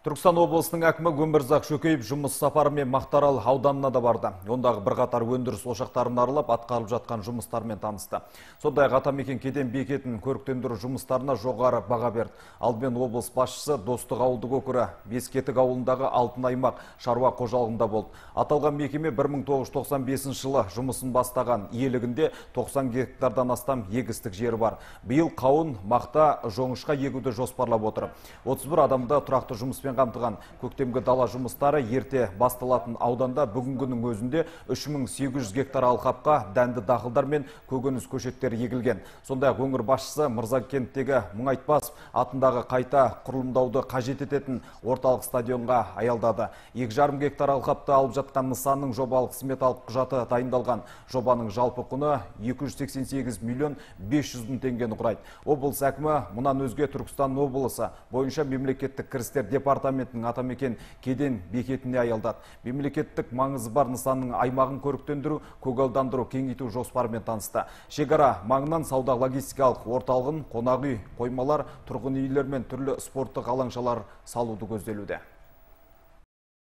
Түркістан облысының әкімі Өмірзақ Шөкеев жұмыс сапарымен Мақтаарал ауданына да барды. Ондағы бірқатар өндіріс ошақтарын аралап, атқарылып жатқан жұмыстармен танысты. Сондай-ақ Атамекен кеден бекетін көріктендіру жұмыстарына жоғары баға берді. Алдымен облыс басшысы Достық ауылдық округі Бескетік ауылындағы Алтын аймақ шаруа қожалығында болды. Аталған мекеме 1995 жылы жұмысын бастаған, иелігінде 90 гектардан астам егістік жері бар. Биыл қауын, мақта, жоңышқа егуді жоспарлап отыр. 31 адамда тұрақты жұмыспен қамтыған. Көктемгі дала жұмыстары ерте басталатын ауданда бүгінгінің өзінде 3800 гектар алқапқа дәнді дақылдар мен көкөніс көшеттері егілген. Сондай-ақ өңір басшысы Мырзакенттегі Мұңайтпасов атындағы қайта құрылымдауды қажет ететін орталық стадионға аялдады. 2,5 гектар алқапты алып жатқан нысанның жобалық сметалық құжаты дайындалған. Жобаның жалпы құны 288 миллион 500 мың теңгені құрайды. Облыс әкімі мұнан өзге Түркістан облысы бойынша мемлекеттік кірістер департаментінің Атамекен кеден бекетіне аялдады. Мемлекеттік маңызы бар нысанның аймағын көріктендіру, көгалдандыру, кеңейту жоспарымен танысты. Шекара маңынан сауда логистикалық орталығын, қонақ үй, қоймалар, тұрғын үйлер мен түрлі спорттық алаңшалар салуды көзделуде.